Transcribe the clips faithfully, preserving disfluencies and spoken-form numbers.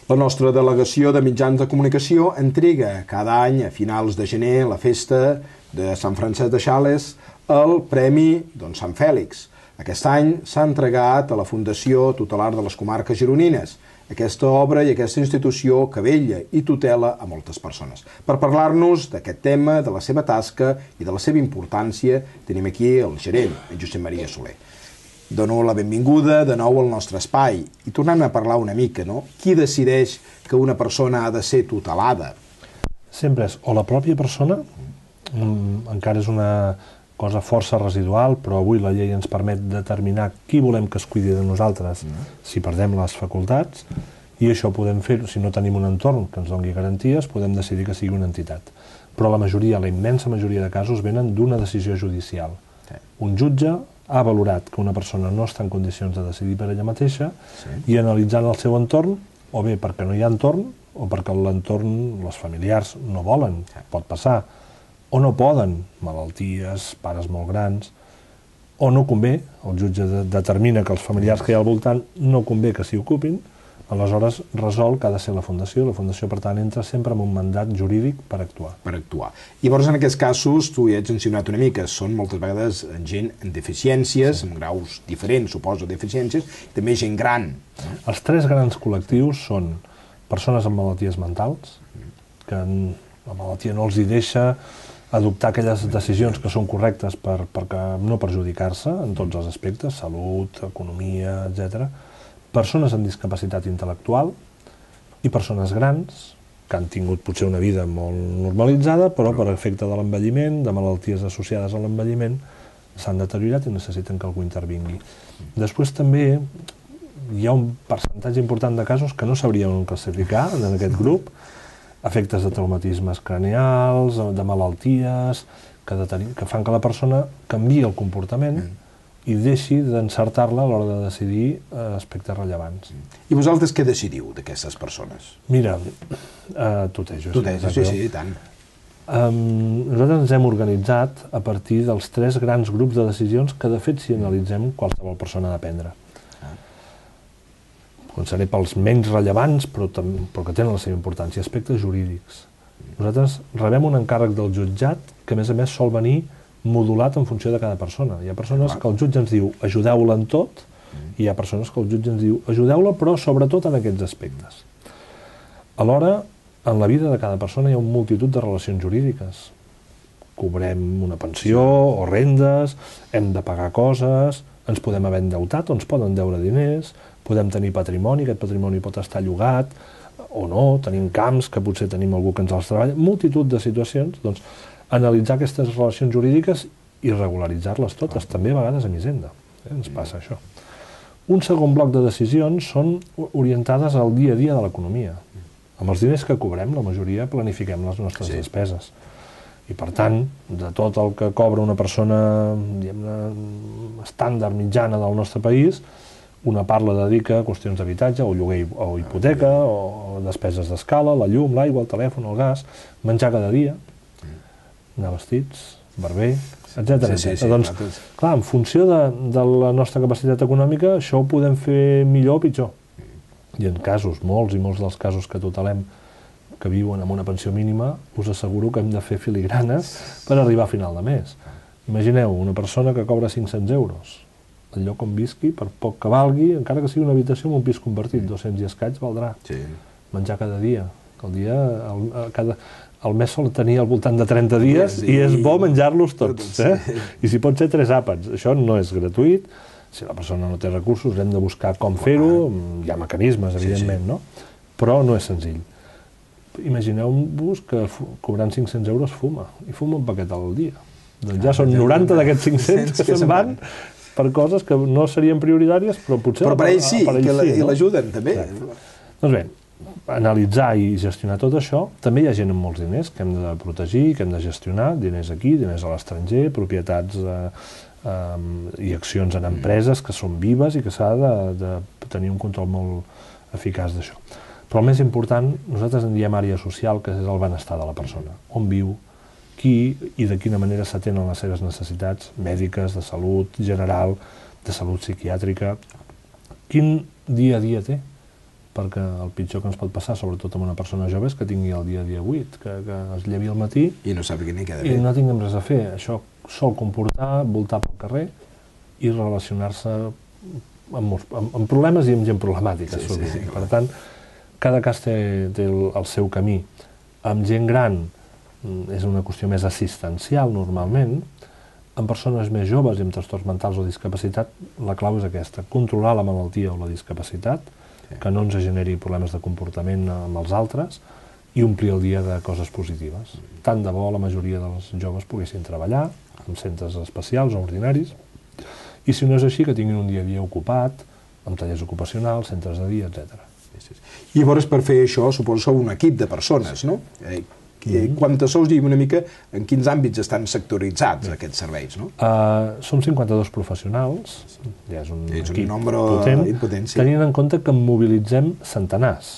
La nostra delegació de mitjans de comunicació entrega cada any, a finals de gener, la festa de Sant Francesc de Sales, el Premi doncs, Sant Fèlix. Aquest any s'ha entregat a la Fundació Tutelar de les Comarques Gironines, aquesta obra i aquesta institució que vetlla i tutela a moltes persones. Per parlar-nos d'aquest tema, de la seva tasca i de la seva importància, tenim aquí el gerent, en Josep Maria Soler. Dono la benvinguda de nou al nostre espai i tornem a parlar una mica, no? Qui decideix que una persona ha de ser tutelada? Sempre és o la pròpia persona, encara és una cosa força residual, però avui la llei ens permet determinar qui volem que es cuidi de nosaltres si perdem les facultats, i això podem fer, si no tenim un entorn que ens doni garanties, podem decidir que sigui una entitat. Però la majoria, la immensa majoria de casos, venen d'una decisió judicial. Un jutge ha valorat que una persona no està en condicions de decidir per ella mateixa i analitzant el seu entorn, o bé perquè no hi ha entorn, o perquè l'entorn, els familiars no volen, pot passar, o no poden, malalties, pares molt grans, o no convé, el jutge determina que els familiars que hi ha al voltant no convé que s'hi ocupin, aleshores resol que ha de ser la Fundació, la Fundació per tant entra sempre amb un mandat jurídic per actuar. Per actuar. Llavors en aquests casos, tu ja has mencionat una mica, són moltes vegades gent amb deficiències, amb graus diferents, suposo, deficiències, i també gent gran. Els tres grans col·lectius són persones amb malalties mentals, que la malaltia no els hi deixa adoptar aquelles decisions que són correctes per, per no perjudicar-se en tots els aspectes, salut, economia, etcètera. Persones amb discapacitat intel·lectual i persones grans que han tingut potser una vida molt normalitzada, però per efecte de l'envelliment, de malalties associades a l'envelliment, s'han deteriorat i necessiten que algú intervingui. Després també hi ha un percentatge important de casos que no sabríem classificar en aquest grup, efectes de traumatismes craneals, de malalties, que, que fan que la persona canviï el comportament i deixi d'encertar-la a l'hora de decidir aspectes rellevants. I vosaltres què decidiu d'aquestes persones? Mira, uh, tutejo. Tutejo, sí, sí, i tant. Um, nosaltres ens hem organitzat a partir dels tres grans grups de decisions que, de fet, si analitzem, qualsevol persona ha de prendre. Començaré pels menys rellevants, però, però que tenen la seva importància, aspectes jurídics. Nosaltres rebem un encàrrec del jutjat que, a més a més, sol venir modulat en funció de cada persona. Hi ha persones que el jutge ens diu ajudeu-la en tot, i hi ha persones que el jutge ens diu ajudeu-la, però sobretot en aquests aspectes. Alhora, en la vida de cada persona hi ha una multitud de relacions jurídiques. Cobrem una pensió o rendes, hem de pagar coses, ens podem haver endeutat o ens poden deure diners, podem tenir patrimoni, aquest patrimoni pot estar llogat o no, tenim camps que potser tenim algú que ens els treballa, multitud de situacions, doncs analitzar aquestes relacions jurídiques i regularitzar-les totes, també a vegades amb Hisenda, eh? Ens passa això. Un segon bloc de decisions són orientades al dia a dia de l'economia. Amb els diners que cobrem, la majoria planifiquem les nostres sí. despeses. I per tant, de tot el que cobra una persona diguem-ne estàndard mitjana del nostre país, una part la dedica a qüestions d'habitatge, o lloguer o hipoteca, o despeses d'escala, la llum, l'aigua, el telèfon, el gas, menjar cada dia, anar vestits, barber, etcètera. Sí, sí, sí, doncs, clar, en funció de, de la nostra capacitat econòmica, això ho podem fer millor o pitjor. I en casos, molts i molts dels casos que tutelem, que viuen amb una pensió mínima, us asseguro que hem de fer filigranes per arribar a final de mes. Imagineu una persona que cobra cinc-cents euros. El lloc on visqui, per poc que valgui, encara que sigui una habitació amb un pis convertit, dos-cents i escaig valdrà. Sí. Menjar cada dia. El dia, el, cada, el mes sol tenir al voltant de trenta dies sí. i és bo menjar-los tots. Eh? Sí. I si pot ser tres àpats. Això no és gratuït. Si la persona no té recursos, hem de buscar com fer-ho. Hi ha mecanismes, evidentment, sí, sí. no? Però no és senzill. Imagineu-vos que cobrant cinc-cents euros fuma. I fuma un paquet al dia. Doncs ja són noranta d'aquests cinc-cents que se'n van per coses que no serien prioritàries, però potser... Però per ells sí, i l'ajuden també. Doncs bé, analitzar i gestionar tot això, també hi ha gent amb molts diners que hem de protegir, que hem de gestionar, diners aquí, diners a l'estranger, propietats i accions en empreses que són vives i que s'ha de tenir un control molt eficaç d'això. Però el més important, nosaltres en diem àrea social, que és el benestar de la persona. On viu, qui i de quina manera s'atenen les seves necessitats mèdiques, de salut general, de salut psiquiàtrica, quin dia a dia té perquè el pitjor que ens pot passar, sobretot amb una persona jove, és que tingui el dia a dia buit, que, que es llevi al matí i no sàpiga ni què ha de i fer. no tinguem res a fer. Això sol comportar voltar pel carrer i relacionar-se amb, amb, amb problemes i amb gent problemàtica. Sí, sí, sí, per tant, cada cas té, té el, el seu camí. Amb gent gran és una qüestió més assistencial, normalment. En persones més joves i amb trastorns mentals o discapacitat, la clau és aquesta, controlar la malaltia o la discapacitat, sí. que no ens generi problemes de comportament amb els altres i omplir el dia de coses positives. Mm. Tant de bo la majoria dels joves poguessin treballar en centres especials o ordinaris, i si no és així, que tinguin un dia a dia ocupat, amb tallers ocupacionals, centres de dia, etcètera. Sí, sí. I llavors, per fer això, suposo que sou un equip de persones, no? Eh, Mm-hmm. Quantes sous i una mica en quins àmbits estan sectoritzats aquests serveis, no? Uh, som cinquanta-dos professionals, ja és un és equip un nombre potent, impotent, sí. tenint en compte que en mobilitzem centenars,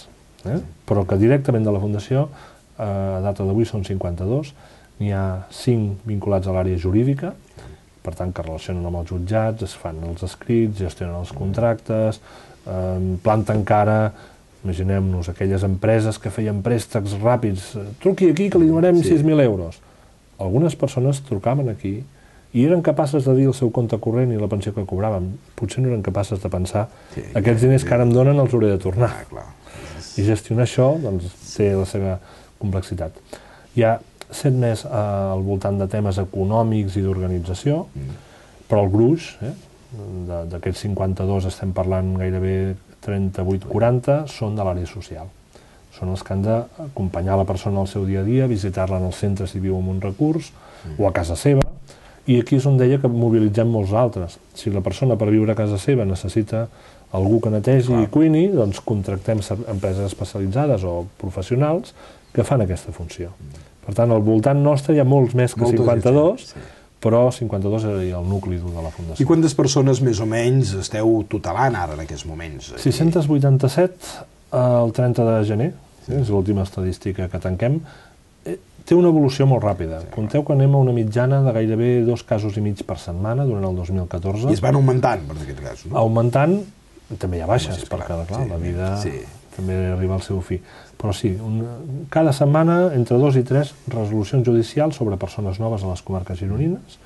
eh? sí. però que directament de la Fundació, uh, a data d'avui són cinquanta-dos, n'hi ha cinc vinculats a l'àrea jurídica, per tant que relacionen amb els jutjats, es fan els escrits, gestionen els contractes, uh, planten cara. Imaginem-nos aquelles empreses que feien préstecs ràpids. Truqui aquí que li donarem sí. sis mil euros. Algunes persones trucaven aquí i eren capaces de dir el seu compte corrent i la pensió que cobraven. Potser no eren capaces de pensar sí, aquests diners que ara em donen els hauré de tornar. Ah, clar. I gestionar això doncs, té la seva complexitat. Hi ha set més eh, al voltant de temes econòmics i d'organització, mm. però el gruix, eh, d'aquests cinquanta-dos estem parlant gairebé trenta-vuit quaranta, són de l'àrea social. Són els que han d'acompanyar la persona al seu dia a dia, visitar-la en el centre si viu en un recurs, mm. o a casa seva, i aquí és on deia que mobilitzem molts altres. Si la persona per viure a casa seva necessita algú que netegi Clar. i cuini, doncs contractem empreses especialitzades o professionals que fan aquesta funció. Mm. Per tant, al voltant nostre hi ha molts més que Molta cinquanta-dos, sí. però cinquanta-dos era el nucli dur de la Fundació. I quantes persones més o menys esteu tutelant ara en aquests moments? sis-cents vuitanta-set el trenta de gener, sí. és l'última estadística que tanquem. Té una evolució molt ràpida. Sí, Compteu que anem a una mitjana de gairebé dos casos i mig per setmana durant el dos mil catorze. I es van augmentant, per aquest cas, no? Augmentant, també hi ha baixes, sí, perquè clar, sí, la vida sí. també arriba al seu fi. Però sí, un, cada setmana entre dos i tres resolucions judicials sobre persones noves a les comarques gironines,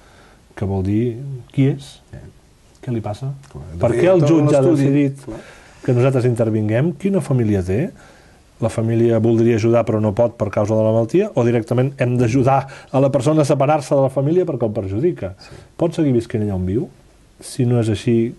que vol dir qui és, sí. què li passa, Clar, per què el jutge ha decidit Clar. que nosaltres intervinguem, quina família té, la família voldria ajudar però no pot per causa de la malaltia, o directament hem d'ajudar a la persona a separar-se de la família perquè el perjudica. Sí. Pot seguir visquent allà on viu? Si no és així,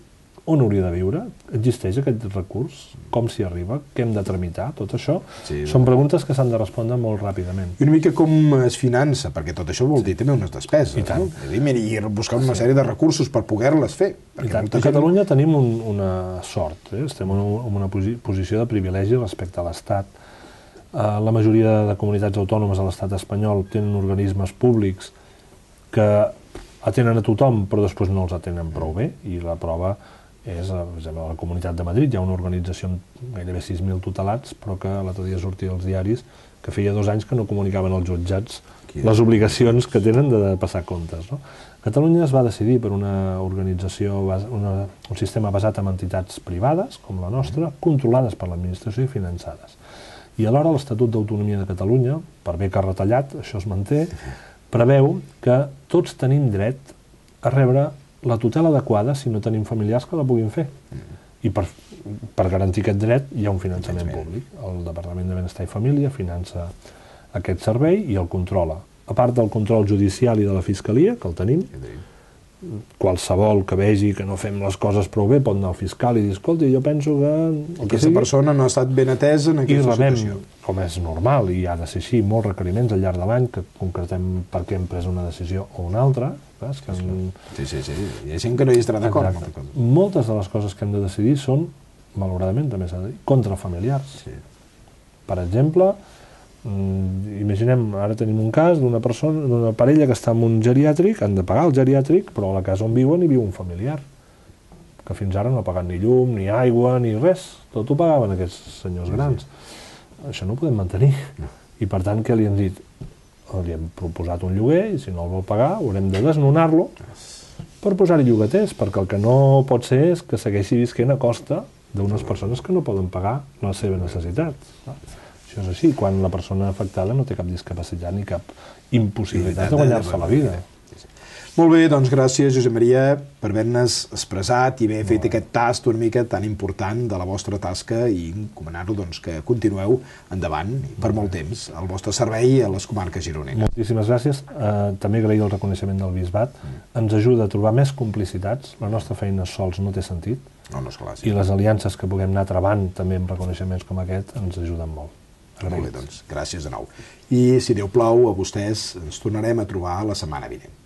on hauria de viure? Existeix aquest recurs? Com s'hi arriba? Què hem de tramitar? Tot això sí, són preguntes que s'han de respondre molt ràpidament. I una mica com es finança, perquè tot això vol dir també unes despeses, I tant. no? I ir buscant una sí. sèrie de recursos per poder-les fer. I tant. A Catalunya gent... tenim un, una sort, eh? estem en una posició de privilegi respecte a l'Estat. Uh, la majoria de comunitats autònomes a l'Estat espanyol tenen organismes públics que atenen a tothom, però després no els atenen prou bé, i la prova és, per exemple, a la Comunitat de Madrid hi ha una organització amb gairebé sis mil tutelats, però que l'altre dia sortia als diaris que feia dos anys que no comunicaven als jutjats les obligacions que tenen de passar comptes. No? Catalunya es va decidir per una organització, una, un sistema basat en entitats privades, com la nostra, controlades per l'administració i finançades. I alhora l'Estatut d'Autonomia de Catalunya, per bé que ha retallat, això es manté, preveu que tots tenim dret a rebre la tutela adequada si no tenim familiars que la puguin fer. Mm. I per, per garantir aquest dret hi ha un finançament públic. El Departament de Benestar i Família finança aquest servei i el controla. A part del control judicial i de la Fiscalia, que el tenim, qualsevol que vegi que no fem les coses prou bé pot anar al fiscal i dir, escolta, jo penso que... Aquesta persona no ha estat ben atesa en aquesta situació. I rebem, com és normal, i ha de ser així, molts requeriments al llarg de l'any que concretem per què hem pres una decisió o una altra. Saps? Que en... Sí, sí, sí. Hi ha gent que no hi estarà d'acord. Moltes de les coses que hem de decidir són, malauradament també s'ha de dir, contra familiars. Sí. Per exemple, imaginem, ara tenim un cas d'una persona, d'una parella que està en un geriàtric, han de pagar el geriàtric, però a la casa on viuen hi viu un familiar, que fins ara no ha pagat ni llum, ni aigua, ni res. Tot ho pagaven aquests senyors grans. Això no ho podem mantenir. I per tant, què li hem dit? Li hem proposat un lloguer i si no el vol pagar haurem de desnonar-lo per posar-hi llogaters, perquè el que no pot ser és que segueixi visquent a costa d'unes persones que no poden pagar les seves necessitats. Això és així, quan la persona afectada no té cap discapacitat ni cap impossibilitat de guanyar-se la vida. Molt bé, doncs gràcies, Josep Maria, per haver-nos expressat i haver fet aquest tast una mica tan important de la vostra tasca i encomanar-lo doncs, que continueu endavant per molt temps al vostre servei a les comarques gironines. Moltíssimes gràcies. Eh, també agrair el reconeixement del Bisbat. Ens ajuda a trobar més complicitats. La nostra feina sols no té sentit. No, no és clar, sí. I les aliances que puguem anar trebant també amb reconeixements com aquest ens ajuden molt. Molt bé, doncs, gràcies de nou. I, si Déu plau, a vostès ens tornarem a trobar la setmana vinent.